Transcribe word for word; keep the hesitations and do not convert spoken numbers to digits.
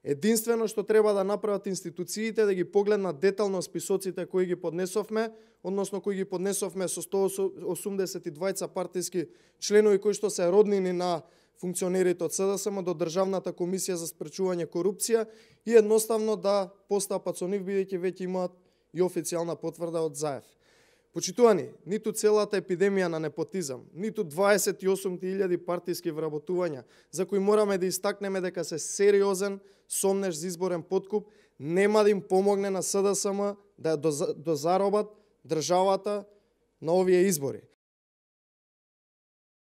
Единствено што треба да направат институциите да ги погледнат детално списоците кои ги поднесовме, односно кои ги поднесовме со сто осумдесет и двајца партиски членови кои што се роднини на функционерите од СДСМ до Државната комисија за спречување корупција и едноставно да постапат со нив бидејќи веќе имаат и официјална потврда од ЗАЕФ. Почитувани, ниту целата епидемија на непотизам, ниту дваесет и осум илјади партиски вработувања, за кои мораме да истакнеме дека се сериозен сомнеш за изборен подкуп, нема да им помогне на СДСМ да ја дозаробат државата на овие избори.